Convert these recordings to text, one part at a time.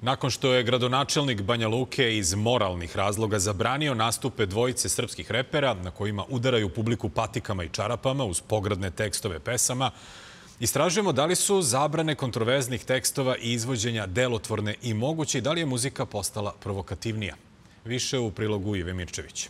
Nakon što je gradonačelnik Banja Luke iz moralnih razloga zabranio nastupe dvojice srpskih repera na kojima udaraju publiku patikama i čarapama uz pogrdne tekstove pesama, istražujemo da li su zabrane kontroverznih tekstova i izvođenja delotvorne i moguće i da li je muzika postala provokativnija. Više u prilogu Ive Mirčević.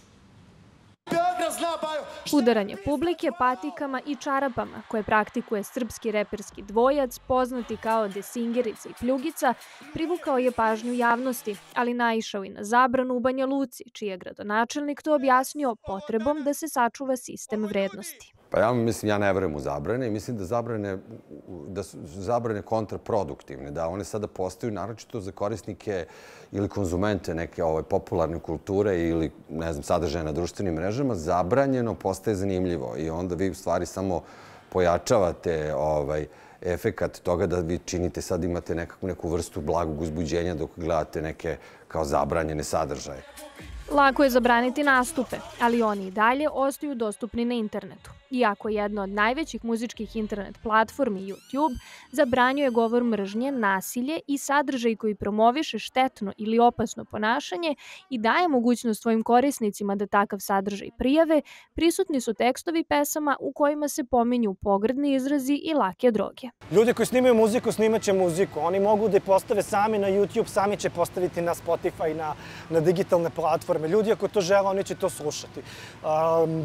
Udaranje publike patikama i čarapama koje praktikuje srpski reperski dvojac, poznati kao Desingerica i Pljugica, privukao je pažnju javnosti, ali naišao i na zabranu u Banja Luci, čiji je gradonačelnik to objasnio potrebom da se sačuva sistem vrednosti. Ja ne verujem u zabrane i mislim da su zabrane kontraproduktivne, da one sada postaju naročito za korisnike ili konzumente neke popularne kulture ili, ne znam, sadržaja na društvenim mrežama, zabranjeno postaje zanimljivo i onda vi u stvari samo pojačavate efekat toga da vi činite, sad imate neku vrstu blagog uzbuđenja dok gledate neke kao zabranjene sadržaje. Lako je zabraniti nastupe, ali oni i dalje ostaju dostupni na internetu. Iako jedna od najvećih muzičkih internet platformi YouTube zabranjuje govor mržnje, nasilje i sadržaj koji promoviše štetno ili opasno ponašanje i daje mogućnost svojim korisnicima da takav sadržaj prijave, prisutni su tekstovi pesama u kojima se pominju pogrdni izrazi i lake droge. Ljudi koji snimaju muziku, snimaće muziku. Oni mogu da je postave sami na YouTube, sami će postaviti na Spotify, na digitalne platforme. Ljudi ako to žele, oni će to slušati.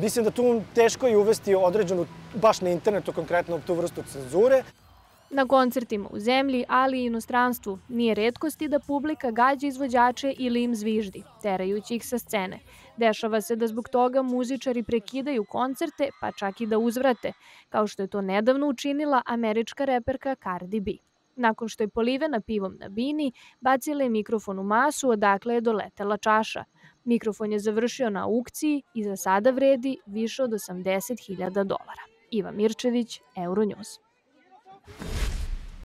Mislim da tu teško je uvesti određenu, baš na internetu konkretno, tu vrstu cenzure. Na koncertima u zemlji, ali i inostranstvu, nije retkosti da publika gađa izvođače ili im zviždi, terajući ih sa scene. Dešava se da zbog toga muzičari prekidaju koncerte, pa čak i da uzvrate, kao što je to nedavno učinila američka reperka Cardi B. Nakon što je polivena pivom na bini, bacila je mikrofon u masu odakle je doletela čaša. Mikrofon je završio na aukciji i za sada vredi više od $80.000. Iva Mirčević, Euronews.